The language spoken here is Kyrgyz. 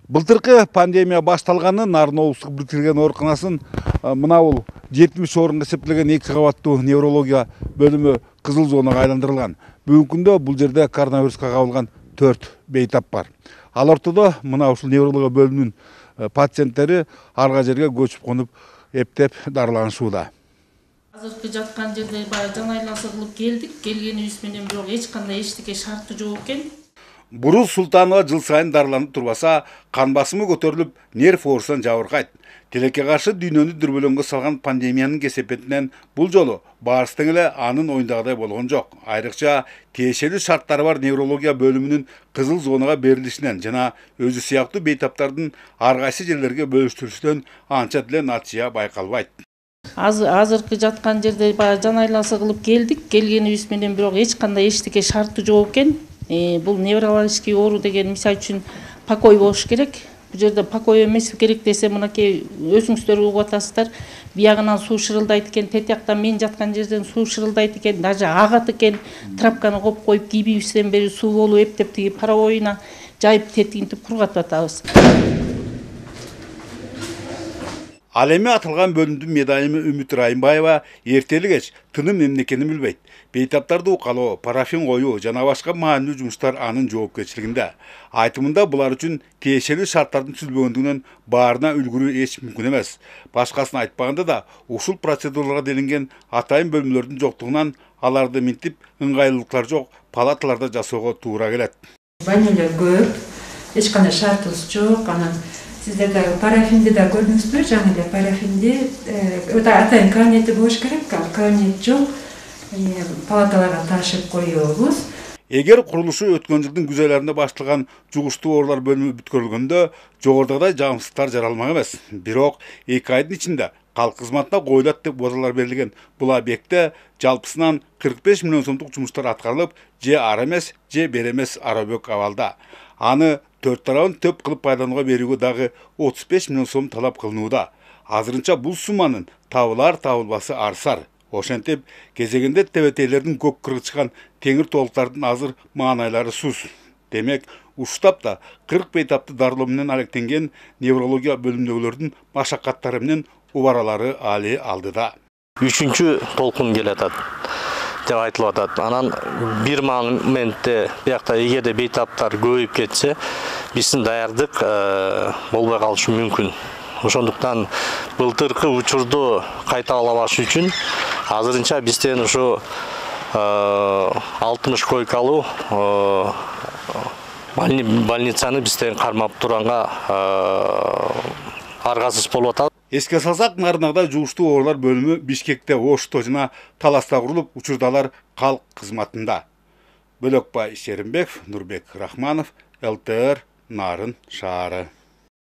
Былтыркы пандемия башталганы Нарын облустук бириктерилген ооруканасын мына бул 70 орунга эсептелген 2 кабаттуу неврология бөлүмү кызыл зонага айландырылган. Бүгүнкү күндө бул жерде коронавируска кабылган 4 бейтап бар. Ал ортодо мына ушул неврология бөлүмүнүн пациенттери арга жерге көчүп конуп эптеп дарыланышууда. Азыркы жаткан жерде баягы жан айланса кылып келдик. Келгенибиз менен бирок эч кандай эчтеке шарты жок экен. Буруз Султанова жыл сайын дарыланып турбаса, кан басымы көтөрүлүп, нерв оорусунан жабыркайт. Тилекке каршы дүйнөнү дүрбөлөңгө салган пандемиянын кесепетинен бул жолу баарысы тең эле анын оюндагыдай болгон жок. Айрыкча тиешелүү шарттары бар неврология бөлүмүнүн кызыл зонага берилишинен жана өзү сыяктуу бейтаптардын ар кайсы жерлерге бөлүштүрүшүнөн анча деле натыйжа байкалбайт. Азыркы жаткан жерде баягы жан айланса кылып келдик. Келгенибиз менен бирок эч кандай эчтеке шарты жок экен. Бул неврологический оору деген мисалы үчүн покой болуш керек. Бул жерде покой эмес керек десе, мынакей өзүңүздөр угуп атасыздар. Биягынан суу шырылдайт экен, тетияктан мен жаткан жерден суу шырылдайт экен, даже агат экен. Трапканы коюп коюп кийбибизден бери суу болуп эптеп тиги паровоюна жайып тетигинтип кургатып атабыз. Ал эми атылган бөлүмдүн медайымы Үмүт Райымбаева эртели кеч тыным эмне экенин билбейт. Бейтаптарды укалоо, парафин коюу жана башка маанилүү жумуштар анын жоопкерчилигинде. Айтымында булар үчүн тиешелүү шарттардын түзүлбөгөндүгүнөн баарына үлгүрүү эч мүмкүн эмес. Башкасын айтпаганда да ушул процедураларга делинген атайын бөлмөлөрдүн жоктугунан аларды минтип ыңгайлуулуктар жок палаталарда жасоого туура келет. Больнилер көп, эч кандай шартыбыз жок. Анан сиздер да парафинди да көрдүңүзбү? Жаңы эле парафинди атайын кабинети болуш керек, ал кабинет жок. Палаталарга ташып коебуз. Эгер курулушу өткөн жылдын күз айларында башталган жугуштуу оорулар бөлүмү бүткөрүлгөндө жогорудагыдай жамсыздыктар жаралмак эмес. Бирок 2 айдын ичинде калк кызматына коюлат деп убадалар берилген бул объектте жалпысынан 45 миллион сомдук жумуштар аткарылып, же ара эмес, же бер эмес арабөк абалда. Аны 4 тарабын төп кылып пайдаланууга берүүгө дагы 35 миллион сом талап кылынууда. Азырынча бул сумманын табылар табылбасы арсар. Ошентип, кезегинде тебетейлердин көк кыргычкан теңир толуктардын азыр маанайлары сус. Демек, ушул тапта 40 бейтапты дарылоо менен алектенген неврология бөлүмдөгүлөрдүн машаккаттары менен убаралары али алдыда. 3-чү толкун келатат деп айтылып атат. Анан бир моментте биякта эгерде бейтаптар көбөйүп кетсе, биздин даярдык болбой калышы мүмкүн. Ошондуктан былтыркы учурду кайталабаш үчүн азырынча бизден ушу 60 койкалуу больницаны бизден кармап турганга аргасыз болуп атат. Эске салсак, нарынагыдай жугуштуу оорулар бөлүмү Бишкекте, Ошто жана Таласта курулуп, учурдалар калк кызматында. Бөлөкбай Шеримбеков, Нурбек Рахманов, ЛТР, Нарын шаары.